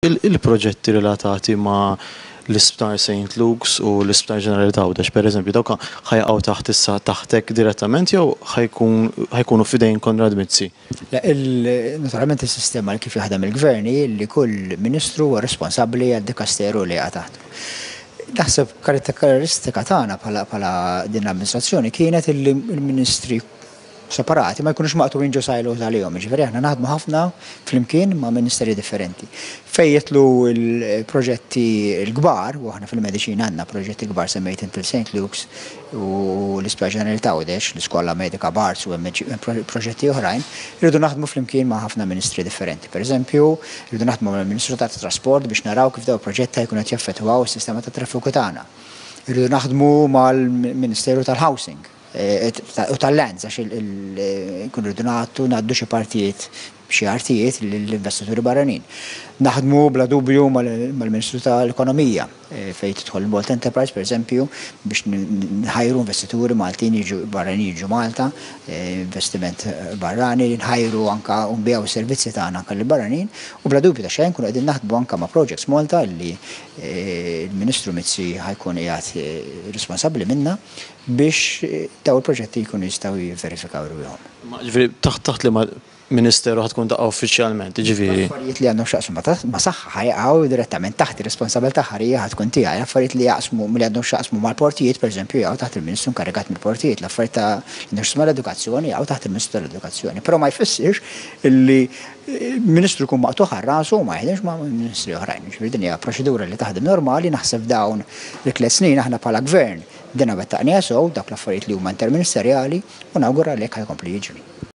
Il-proġetti relatati ma' l-Isptar St. Luke's u l-Isptar Ġenerali t'Għawdex, per eżempju, dawk ħa jaqgħu taħt issa taħtek direttament jew ħa jkunu f'idejn Konrad Mizzi? Le, naturalment is-sistema li kif jaħdem il-Gvern hi li kull Ministru huwa responsabbli għad-dikasteru li jaqa' taħtu. Naħseb karatteristika tagħna bħala din l-amministrazzjoni kienet illi l-Ministri separati ma jkunux maqtugħin ġo silos għalihom, jiġifieri aħna naħdmu ħafna flimkien ma' ministeri differenti. Fejn jidħlu l-proġetti l-kbar, u aħna fil-mediċina għandna proġetti kbar semmejt inti l-St. Luke's u l-Isptar Ġenerali t'Għawdex, l-Iskola Medika Barts u hemm proġetti oħrajn, irridu naħdmu flimkien ma' ħafna ministri differenti. Per eżempju, irridu naħdmu mal-Ministru tat-Trasport biex naraw kif dawn il-proġetti ħa jkunu qed jaffettwaw is-sistema tat-traffiku tagħna. Irridu naħdmu mal-Ministeru tal-Housing u tal-lands għax nkunu rridu nagħtu ngħaddu xi partijiet xi artijiet lill-investituri barranin. Naħdmu bla dubju mal-Ministru tal-Ekonomija fejn tidħol il-Malta Enterprise pereżempju biex nħajru investituri Maltin jiġu barranin jiġu Malta, investiment barrani, nħajru anka u nbigħu s-servizzi tagħna anka lill-barranin u bla dubju ta' xejn nkunu qegħdin naħdmu anka ma' Projects Malta li l-Ministru Mizzi ħa jkun qiegħed responsabbli minnha biex dawn il-proġetti jkunu jistgħu jivverifikaw rwieħhom. Ma jiġifieri taħt taħt liema ministeru ħa tkun taqa' uffiċjalment, jiġifieri? L-affarijiet li għandhom x'jaqsmu ma' saħħa ħa jaqgħu direttament taħt ir-responsabilità aħħarija ħa tkun tiegħi. L-affarijiet li jaqsmu li għandhom x'jaqsmu mal-portijiet, pereżempju, jaqgħu taħt il-Ministru inkarigat mill-portijiet. L-affarijiet ta' li għandhom x'jaqsmu mal-edukazzjoni jaqgħu taħt il-Ministru tal-Edukazzjoni. Però ma jfissirx li Ministru jkun maqtugħ għal rasu u ma jaħdimx ma' ministri oħrajn. Jiġifieri din hija proċedura li taħdem normali, naħseb f'dawn it-tliet snin aħna bħala Gvern bdejna wettaqniha sew dawk l-affarijiet li huma interministerjali u nawgura li hekk ħa jkompli jiġri.